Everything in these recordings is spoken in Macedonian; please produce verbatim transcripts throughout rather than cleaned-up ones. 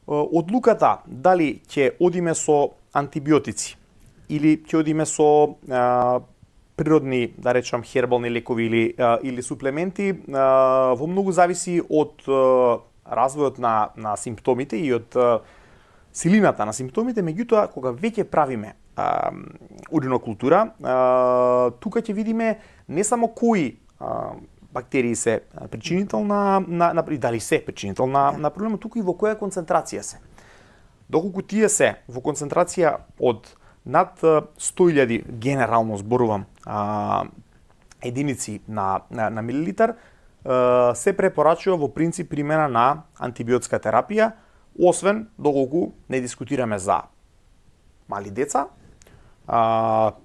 одлуката дали ќе одиме со антибиотици или ќе одиме со а, природни, да речам, хербални лекови или а, или суплементи, а, во многу зависи од а, развојот на на симптомите и од а, силината на симптомите. Меѓутоа, кога веќе правиме а, уринокултура, а, тука ќе видиме не само кои а, бактерии се причинител на, на, на и дали се причинител на, да. на проблемот, туку и во која концентрација се. Доколку тие се во концентрација од над сто илјади, генерално зборувам, а, единици на, на, на милилитар, а, се препорачува во принцип примена на антибиотска терапија, освен доколку не дискутираме за мали деца, а,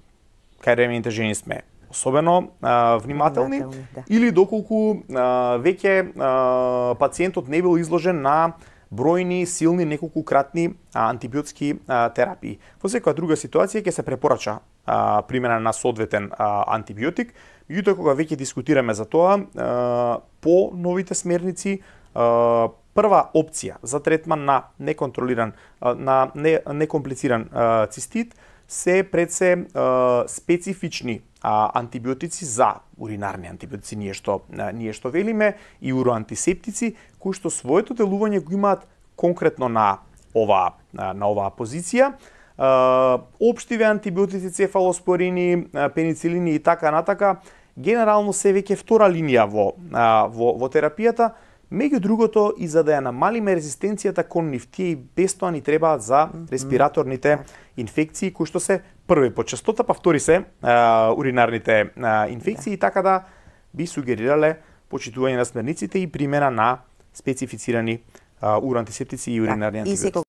кај ремените жени сме особено а, внимателни, да. Или доколку а, веќе а, пациентот не бил изложен на бројни, силни, неколкукратни а, антибиотски а, терапии. Во секоја друга ситуација ќе се препорача а, примена на соодветен а, антибиотик. Меѓутоа, кога веќе дискутираме за тоа, а, по новите смерници, а, прва опција за третман на неконтролиран, а, на не, некомплициран а, цистит се пред се а, специфични а, антибиотици за уринарни антибиотици, ние што а, ние што велиме, и уроантисептици, кои што своето делување го имаат конкретно на оваа на оваа позиција. А, општиве антибиотици, цефалоспорини, пеницилини и така натака, генерално се веќе втора линија во а, во, во терапијата. Меѓу другото, и за да ја намалиме резистенцијата кон нив, тие и без тоа ни требаат за респираторните инфекции, кои што се први по честота, па втори се а, уринарните а, инфекции, и така да би сугерирале почитување на смерниците и примена на специфицирани а, уроантисептици и уринарни антибиотици.